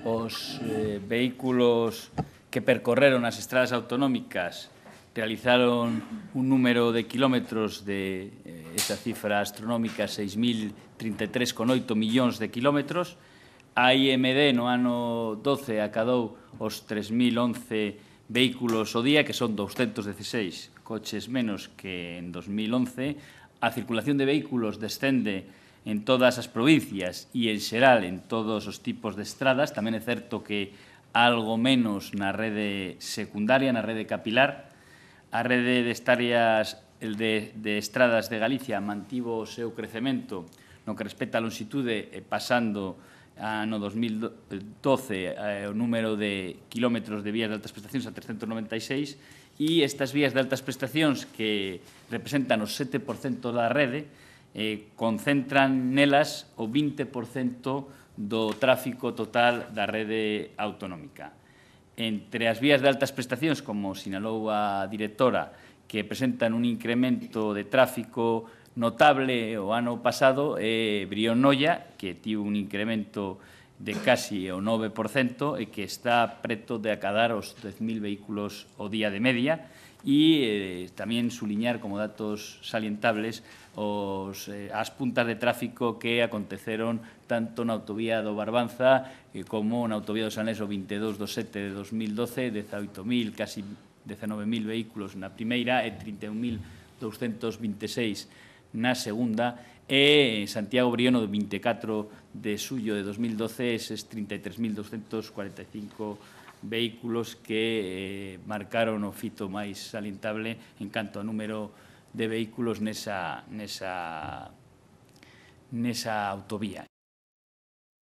os vehículos que percorreron as estradas autonómicas realizaron un número de kilómetros de esa cifra astronómica, 6.033,8 millóns de kilómetros. A IMD no ano 12 acadou os 3.011 vehículos ao día, que son 216 coches menos que en 2011. A circulación de vehículos descende en todas as provincias e, en xeral, en todos os tipos de estradas. Tamén é certo que algo menos na rede secundaria, na rede capilar. A rede de estradas de Galicia mantivo o seu crecemento no que respecta á longitude, pasando no 2012 o número de kilómetros de vías de altas prestacións a 396, e estas vías de altas prestacións, que representan o 7% da rede, concentran nelas o 20% do tráfico total da rede autonómica. Entre as vías de altas prestacións, como sinalou a directora, que presentan un incremento de tráfico notable o ano pasado, é Brión-Noia, que tivo un incremento de casi o 9% e que está preto de acadar os 10.000 vehículos ao día de media. E tamén suliñar como datos salientables as puntas de tráfico que aconteceron tanto na autovía do Barbanza como na autovía do Sanés o 22/7 de 2012, 18.000, casi 19.000 vehículos na primeira e 31.226 na segunda, e Santiago-Brión o 24 de xullo de 2012 eses 33.245 vehículos que marcaron o fito máis salientable en canto ao número de vehículos nesa autovía.